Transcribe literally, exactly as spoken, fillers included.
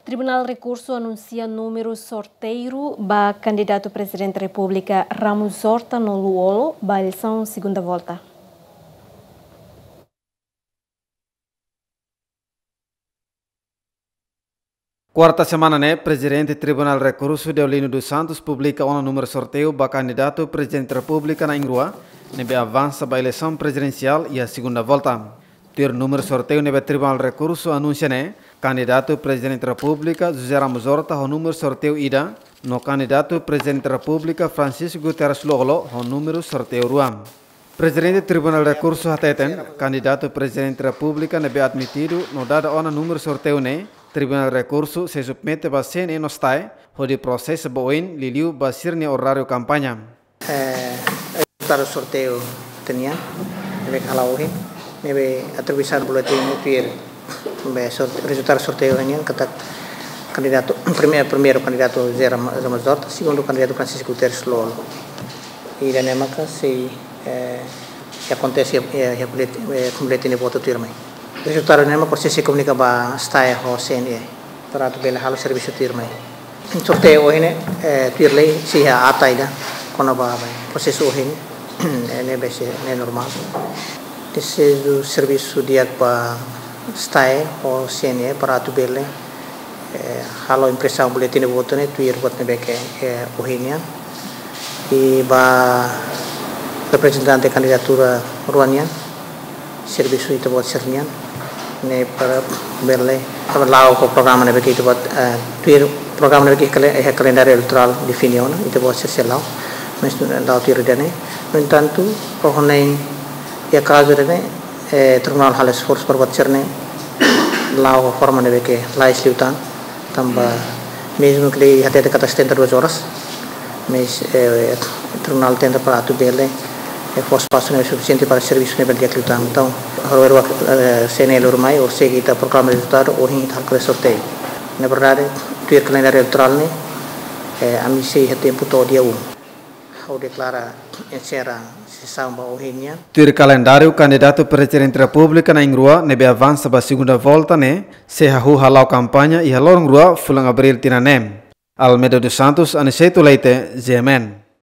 Tribunál Rekursu anunsia númeru sorteiu ba kandidatu Prezidente Repúblika Ramos Horta no Lú-Olo ba eleisaun segunda volta. Kuarta semana ne'e, Prezidente Tribunál Rekursu Deolino dos Santos publika ona númeru sorteiu ba kandidatu Prezidente Repúblika na'in-rua ne'ebé avansa ba eleisaun prezidensiál iha segunda volta. Tuir númeru sorteiu ne'ebé Tribunál Rekursu anunsia ne'e, kandidatu Prezidente Repúblika José Ramos Horta ho númeru sorteiu ida, no kandidatu Prezidente Repúblika Francisco Guterres Lú-Olo ho númeru sorteiu rua. Prezidente Tribunál Rekursu hateten, kandidatu Prezidente Repúblika ne'ebé admitidu no dada ona númeru sorteiu ne'e, Tribunál Rekursu sei submete ba C N E no STAE, hodi prosesa ba oin liuliu ba sira-nia oráriu kampaña. Eh, rezultadu sorteiu tenian, ne'ebé hala'o ohin, ne'ebé atribuisaun boletin ne'e tuir, be sort-, rezultadu sorteiu tenian, katak kandidatu, prime-, primeiru kandidatu José Ramos Horta, segundu kandidatu Francisco Guterres Lú-Olo. I ida-ne'e maka sei, eh, akontese, eh, eh, boletin, eh, boletin de votu tuirmai. Rezultadu ne'e maka sei komunika ba STAE ho C N E, para atu bele halo servisu tuirmai. Sorteiu ohin ne'e, eh, tuir lei sei iha ata ida kona-ba, ba prosesu ohin ne'e, eh, ne'ebé sei, ne'e normál. Dezeju servisu di'ak ba STAE ho C N E para atu bele, eh, halo impresaun boletin de votu ne'e tuir buat ne'ebé ke, eh, ohin nian. I ba reprezentante kandidatura rua nian, servisu ita-boot sira-nian ne'e para bele, para la'o ho programa ne'ebé ke ita-boot, eh, tuir programa ne'ebé ke kale-, eh, kalendáriu eleitorál define ona, ita-boot sira sei la'o, mas la'o tuir ida-ne'e. No entantu, ho ne'e, iha kazu ida-ne'e, eh, tribunál halo esforsu para buat sira-ne'e la'o ho forma ne'ebé ke lalais liután, tanba mezmu ke lei hatete katak setenta e duas horas, mas, eh, tribunál tenta para atu bele, eh, fó espasu ne'e sufisiente para servisu ne'e bele di'ak liután. Entaun, ha'u hakarak, eh, C N E lori mai, hodi sei ita programa rezultadu, ohin ita halo sorteiu. Na verdade, tuir kalendáriu eleitorál ne'e, eh, ami sei iha tempu to'o dia um. Ha'u deklara enserra sesaun ba ohin nian. Tuir kalendáriu, kandidatu Prezidente Repúblika na'in-rua ne'ebé avansa ba segunda volta ne'e sei hahú hala'o kampaña iha loron rua fulan Abríl tinan ne'e. Almeida dos Santos, Aniceto Leite, G M N.